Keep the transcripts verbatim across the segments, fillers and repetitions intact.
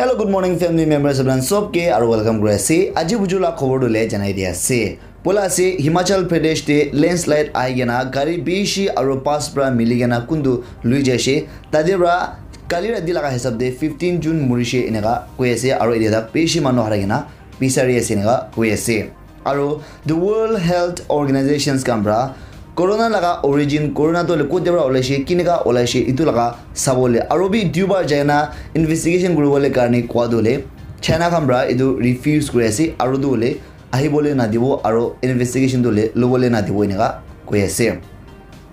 Hello, good morning, family members, apni khan sob ke aru welcome kuri ase. Aji buju la khobor tu le janai di ase. Poila ase, Himachal Pradesh te landslide ahi kena gari bishi aru bus pra mili kena kuntu lui jaise. Tate pra kali rati laga hisab te fifteen jun murishe eneka koi ase, aru etia tak bishi manu harai kena bisari ase eneka koi ase. Aru the World Health Organizations khan pra corona laga origin, corona tu hoile kote pra olaishe, kineka olaishe, itu laga sabole aru bi duibar jai na investigation kuribole karne koa tu hoile China khan pra itu refuse kuri ase, aru tu hoile ahibole nadibo aru investigation tu hoile lobole nadibo eneka koi ase.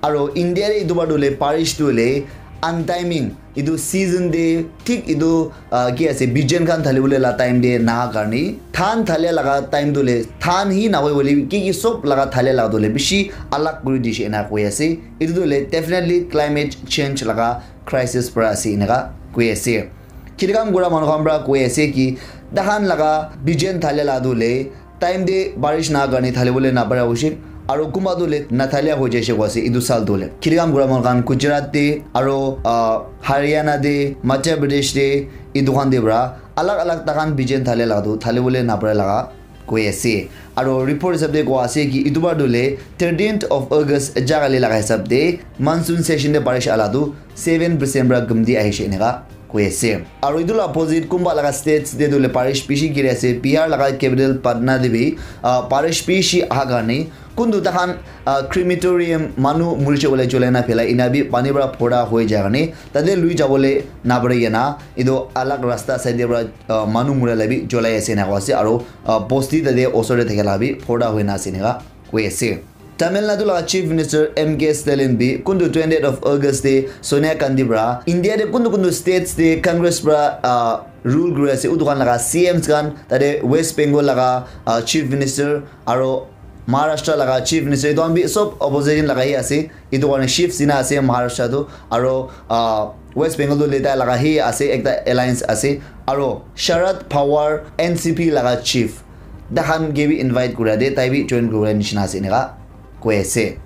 Aru India te itu bar tu hoile parish tu hoile untiming, itu season te thik itu, ah, ki ase, bijen khan thalibole la time te naha karne, than thalia laga time tu hoile than hi nahoi bole ki ki sob laga thalia laga tu hoile bishi alag kuri dishe ena koi ase. Itu tu hoile definitely climate change laga crisis para ase eneka koi ase. Kheti kam kura manu khan para koi ase ki tahan laga bijen thalia la tu hoile time te barish na karne thalibole napara hoise, aru kunba tu hoile nathalia hoi jaise koi ase itu sal tu hoile. Kheti kam kura manu khan Gujarat te aru, ah, Haryana te, Madhya Pradesh te, itu khan te para alag alag tahan bijen thalia la tu thalibole napara laga koi ase. Aru report hisab te koa ase ki itu bar tu hoile thirteenth of August jagali laga hisab te monsoon session te barish ala tu seven percent para gumti ahishe eneka koi ase. Aru itu la opposite kunba laga states te tu hoile barish bishi giri ase. Bihar laga capital Patna te bi, ah, barish bishi aha karne kuntu tahan, ah, crematorium manu murishe bole cholai na phelai ena bi pani para phora hoi jai karne tate lui jabole napari kena itu alag rasta side te para, ah, manu mura la bi cholai ase eneka ase. Aru, ah, bosti tate osor te thakila bi phora hoi na ase eneka koi ase. Tamil Nadu laga Chief Minister M K Stalin bi kuntu twentieth of August te Sonia Gandhi para India te kuntu kuntu states te Congress para, ah, rule kuri ase utu khan laga C Ms khan tate West Bengal laga, ah, Chief Minister aru Maharashtra laga Chief Minister itu khan bi sob opposition laga hi ase. Itu karne Shiv Sena ase Maharashtra tu aru, ah, West Bengal tu letai laga hi ase ekta alliance ase aru Sharad Pawar N C P laga chief tahan ke bi invite kura de tai bi join kura nishina ase eneka koi ase.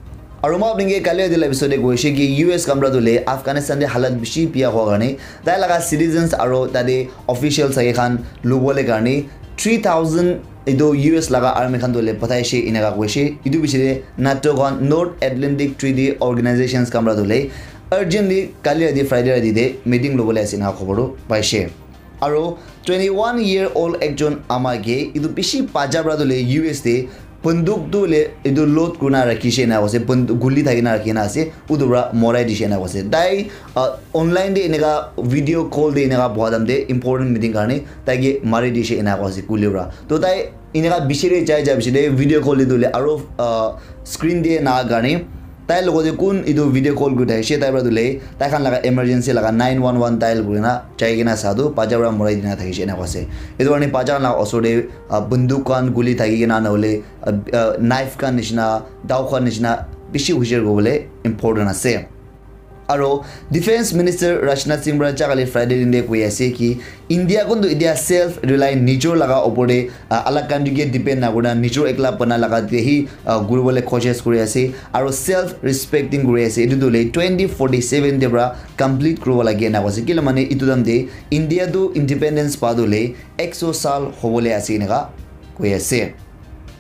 Aru moi apni ke kali adila episode te koise ki U S khan para tu hoile Afghanistan te halat bishi biya hua karne tai laga citizens aru tate officials age khan lubole karne three thousand itu U S laga army khan tu hoile pathaishe eneka koise. Itu piche te NATO khan North Atlantic Treaty Organizations khan para tu hoile urgently kali rati Friday rati te meeting lobole ase eneka khobor tu paise. Aru twenty-one year old ekjon ama ke itu bishi bacha para tu hoile U S te bunduk tu hoile itu load kurina rakhise eneka koise, bunduk guli thakina rakhina ase, utu para morai dishe eneka koise. Tai, ah, online te eneka video call te eneka boha time te important meeting karne tai ke mari dishe eneka koise guli para. To tai eneka bishi te jai jai bishi te video call te tu hoile aru, ah, screen te na karne tai logot te kun etu video call kuri thakishe, tai para tu hoile tai khan laga emergency laga nine one one dial kurina jai kena sa tu bacha para morai dina thakishe ena koise. Etu karne bacha khan laga osor te, ah, bunduk khan guli thaki kena na hoile, ah, ah, knife khan nishina, dao khan nishina bishi hushar kuribole important ase. Aro Defense Minister Rajnath Singh para jagale Friday din te koi ase ki India kuntu etia self reliant, nijor laga opor te, ah, alag country ke depend na kurina nijor ekla bana laga te hi, ah, kuribole koshish kuri ase aro self respecting kuri ase. Etu tu hoile twenty forty seven te para complete kuribo lage ena koise. Kile mane etu time te India tu independence pa tu hoile ek so saal hobole ase eneka koi ase.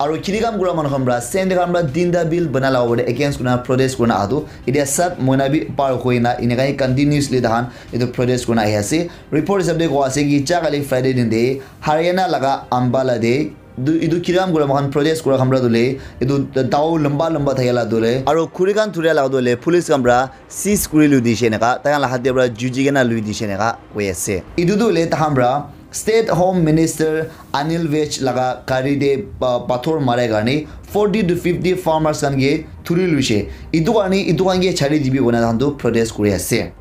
Aro kheti kam kura manu khan para, sende khan para tinta bill bana laga opor te against kurina protest kurina aha tu etia sat mohina bi par hoina eneka hi continuously tahan etu protest kurina ahi ase. Report hisab te koa ase ki jagale Friday din te Haryana laga Ambala te etu, etu kheti kam kura moikhan protest kura khan para tu hoile etu dao lamba lamba thakila tu hoile aro khuri khan thuria laga tu hoile police khan para seize kuri lui dishe eneka, tai khan la hath te para juji kena lui dishe eneka koi ase. Etu tu hoile tahan para State Home Minister Anil Vij laga gari te pa-, pathor marai karne forty to fifty farmers khan ke thuri luishe. Etu karne etu khan ke chari dibi koina tahan tu protest kuri ase.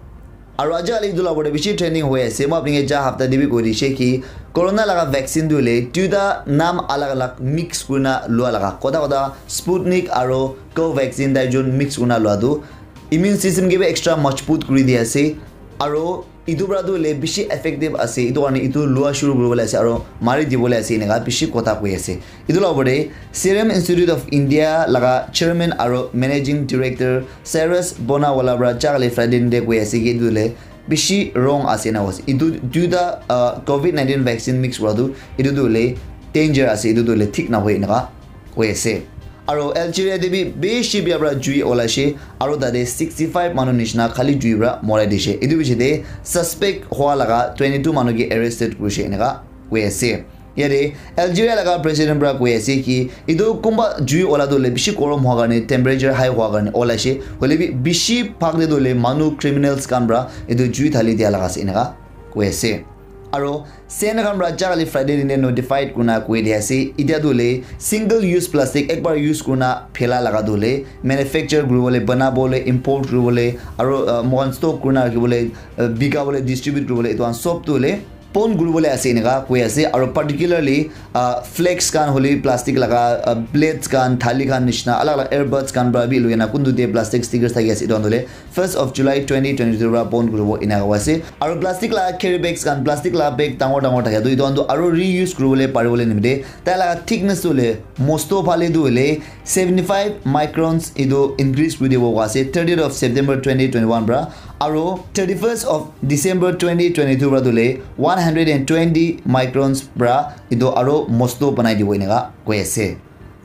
Aru aji kali etu la opor te bishi trending hoi ase. Moi apni ke ja hapta te bi koi dishe ki corona laga vaccine tu hoile duita naam alag alag mix kurina lua laga. Kotha kotha Sputnik aro Covaxin tai jun mix kurina lua tu immune system ke bi extra majbut kuri di ase. Aro etu para tu hoile bishi effective ase, etu karne etu lua shuru kuribole ase aro mari dibole ase eneka bishi kotha koi ase. Etu la opor te Serum Institute of India laga chairman aro managing director Cyrus Poonawalla para jagale Friday din te koi ase ki etu hoile bishi wrong ase ena koise. Etu duita uh, covid nineteen vaccine mix kura tu etu tu hoile danger ase, etu tu hoile thik nahoi eneka koi ase. Aro Algeria te bi bishi bia pra jui olaishe, aro tate sixty five manu nishina khali jui pra morai dishe. Etu bishi te suspect hua laga twenty two manu ke arrested kurishe eneka koi ase. Yate Algeria laga president pra koi ase ki etu kunba jui ola tu hoile bishi gorom hua karne, temperature high hua karne olaishe, hoile bi bishi bhag te tu hoile manu, criminals khan pra etu jui thali dia laga ase eneka koi ase. Aro Sen khan pra jagale Friday din te notified kurina koi dia ase, etia tu hoile single use plastic ekbar use kurina phela laga tu hoile manufacture kuribole, banabole, import kuribole, aro uh, mohan stock kurina rakhibole, uh, bikabole, distribute kuribole, etu khan sob tu hoile pon kuribole ase eneka koi ase. Aro particularly uh, flex khan hoile plastic laga uh, plates khan, thali khan nishina alag alag earbuds khan pra bi loi na kuntu te plastic stickers thaki ase, etu khan tu hoile first of July twenty twenty two pra pon kuribo eneka koi ase. Aro plastic laga carry bags khan, plastic laga bag dangor dangor thaka tu etu khan tu aro reuse kuribole paribole nimite tai laga thickness tu hoile mosto phale tu hoile seventy five microns etu increase kuri dibo koi ase thirtieth of September twenty twenty one pra, aro thirty first of December twenty twenty two pra tu hoile one hundred and twenty microns pra etu aro mosto banai dibo eneka koi ase.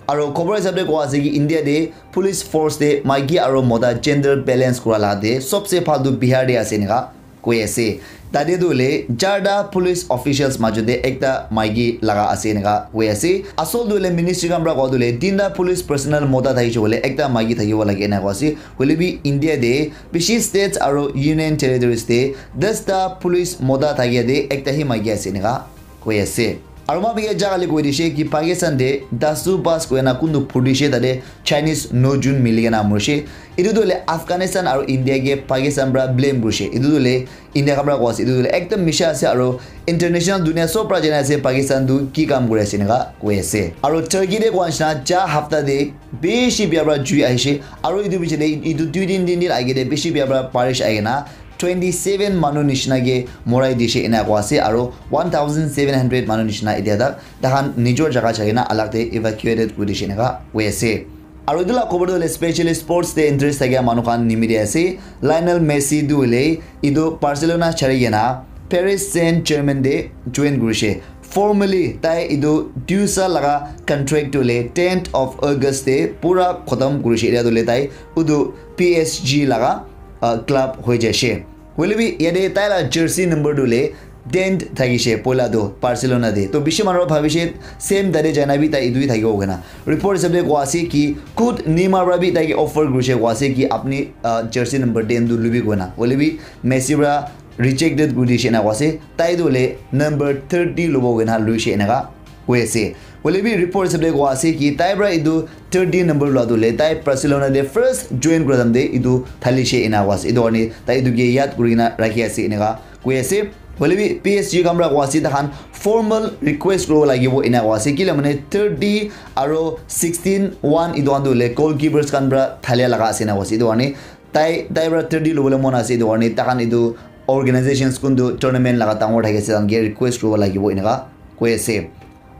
Aro khobor hisab te koa ase ki India te police force te maiki aro mota gender balance kura la te sobse bhal tu Bihar te ase eneka koi ase. Tate tu hoile charta police officials majo te ekta maiki laga ase eneka koi ase. Asol tu hoile ministry khan pra koa tu hoile tinta police personnel mota thakishe hoile ekta maiki thakibo lage eneka koi ase. Hoile bi India te bishi states aro union territories te dasta police mota thakia te ekta hi maiki ase eneka koi ase. Aro ma bhiya jagale koi dishe ki Pakistan te dasu bas koi na kuntu phudishe tate Chinese no jun mili kena murishe. Etu tu hoile Afghanistan aro India ke Pakistan pra blame kurishe. Etu tu hoile India khan pra koa ase. Etu tu hoile ekdam misha ase aro international dunia sob pra jana ase Pakistan tu ki kam kuri ase eneka koi ase. Aro Turkey te koa nishina ja hafta te bishi bia pra jui ahishe. Aro etu bishi te etu dui din tin din age te bishi bia pra barish ahi kena twenty seven manu nishina ke morai dishe ena koa ase, aro one thousand seven hundred manu nishina etia tak takhan nijor jaga jai kena alag te evacuated kuri dishe eneka koi ase. Aro etu la khobor tu hoile specially sports te interest thakia manu khan nimite ase. Lionel Messi tu hoile etu Barcelona chari kena Paris Saint Germain te join kurishe. Formally tai etu dusa laga contract tu hoile tenth of August te pura khotom kurishe. Etia tu hoile tai utu P S G laga uh, club hoi jaishe. Hoile bi yate tai la jersey number tu hoile ten thakishe poila tu Barcelona te. To bishi manu bhabishe same tate jaina bi tai etu hi thakibo koina. Report hisab te koa ase ki khud Neymar pra bi tai ke offer kurishe koa ase ki apni uh, jersey number ten tu lubi koina. Hoile bi Messi pra rejected kuri dishe ena koa ase. Tai tu hoile number thirty lobo koina luishe eneka koi ase. Hoile bi report hisab te koa ase ki tai pra etu thirty number lua tu hoile tai Barcelona te first join kura time te etu thalishe ena koa ase. Etu karne tai etu ke yad kuri kena rakhi ase eneka koi ase. Hoile bi P S G khan pra koa ase takhan formal request kuribo lagibo ena koa ase. Kile mane thirty aro sixteen one etu khan tu hoile goalkeepers khan pra thalia laga ase ena koa ase. Etu karne tai tai pra thirty lobole mon ase. Etu karne takhan etu organizations kuntu tournament laga dangor thaki ase takhan ke request kuribo lagibo eneka koi ase.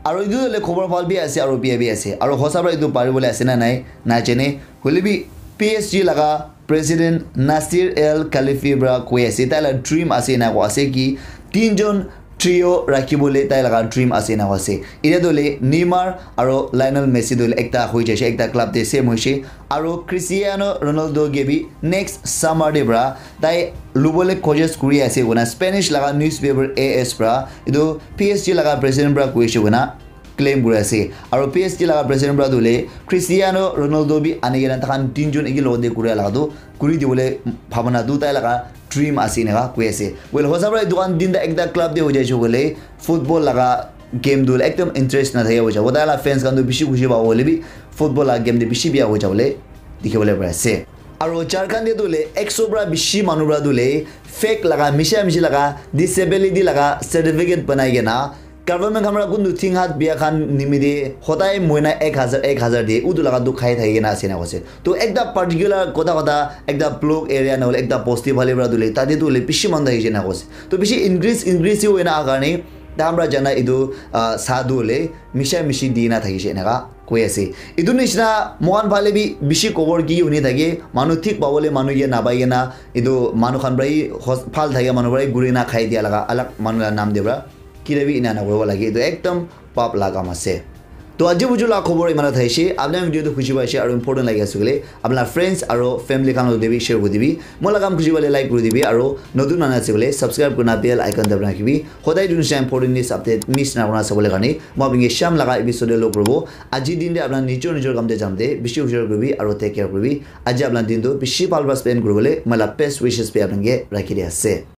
Aro etu hoile khobor bhal bi ase aro bia bi ase. Aro hosa pra etu pari bole ase na nai, na jane. Hoile bi P S G laga president Nasser Al Khelaifi pra koi ase. Tai la dream ase na ko ase ki tinjon trio rakhi bole tai laga dream ase na ko ase. Etia tu hoile Neymar aro Lionel Messi tu hoile ekta hoi jaise, ekta club te same hoise. Aro Cristiano Ronaldo ke bi next summer te pra tai lubole coaches kuri ase koina Spanish laga newspaper A S pra etu P S G laga president pra koise koina claim kuri ase. Aro P S G laga president pra tu hoile Cristiano Ronaldo bi ani kena takhan tinjon eki logote kuri laga tu kuri dibole bhabana tu tai laga dream ase eneka koi ase. Well, hosa pra etu khan tinta ekta club te hoi jaise koile football laga game tu ekdom interest na thaki hoi jabo. Tai la fans khan tu bishi khushi pabo hoile bi football laga game te bishi bia hoi jabole dikhi bole pari ase. Aro Jharkhand te tu hoile ekso pra bishi manu pra tu hoile fake laga, misha mishi laga, disability laga certificate banai kena government khan pra kuntu thing hat bia khan nimite hodai moina ek hazar, ek hazar de utu laga tu khai thaki kena ase na koise. To ekta particular kotha kotha ekta block area na hoile ekta bosti phale pra tu hoile tate tu hoile bishi manu thaki kena koise. To bishi increase, increase hi hoina aha karne Dam para jana etu, ah, sadhu le misha mishi dina thakishe eneka koi ase. Etu nishina moikhan phale bi bishi khobor ki huni thake, manu thik pabole manu ke napai kena etu manu khan para hi hos-, phal thake manu para hi guri na khai dia laga alag manu la nam de para kile bi ena na koribo lage. Etu ekdom pap la kam ase. To aji buju la khobor imana thaishe, apna video tu khushi paishe aru important lagi ase koile, apna friends aru family khan logote bi share kuri dibi. Moi la kam khushi pale like kuri dibi aru notun manu ase koile subscribe kurina bell icon dabi rakhibi. Hodai etu nisina important news update miss na kurina sabole karne moi apni ke sham laga episode te log kuribo. Aji din te apna nijor nijor kam te jam te bishi hushar kuribi aru take care kuribi. Aji apna din tu bishi bhal para spend kuribole moi la best wishes bi apni ke rakhi di ase.